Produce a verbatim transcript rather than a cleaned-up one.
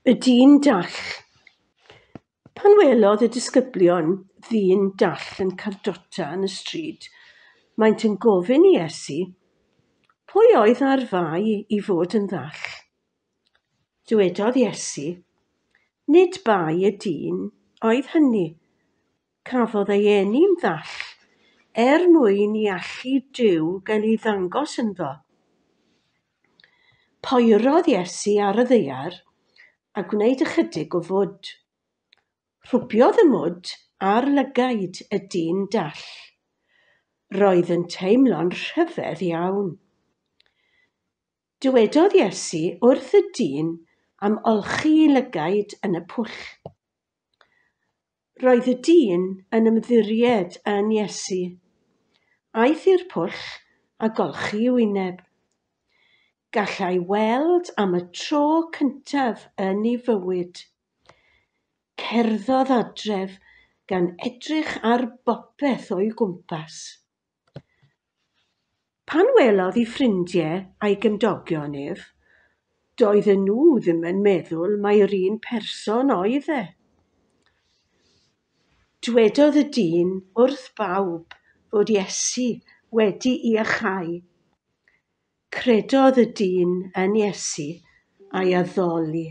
Y dyn dall. Pan welodd y disgyblion ddyn dall yn cardota yn y stryd, maent yn gofyn i Iesu, pwy oedd ar fai i fod yn ddall? Dywedodd Iesu, nid bai y dyn oedd hynny. Cafodd ei eni'n ddall er mwyn i allu Duw gael ei ddangos ynddo. Poerodd Iesu ar y ddaear a gwneud ychydig o fwd. Rhwbiodd y mwd ar lygaid y dyn dall. Roedd yn teimlo'n rhyfedd iawn. Dywedodd Iesu wrth y dyn am olchi ei lygaid yn y pwll. Roedd y dyn yn ymddiried yn Iesu. Aeth i'r pwll a golchi ei wyneb. Gallai weld am y tro cyntaf yn ei fywyd. Cerddodd adref gan edrych ar bopeth o'i gwmpas. Pan welodd ei ffrindiau a'i gymdogion ef, doedden nhw ddim yn meddwl mai'r un person oedd e. Dwedodd y dyn wrth bawb fod Iesu wedi'i iacháu. Credodd y dyn yn Iesu a'i addoli.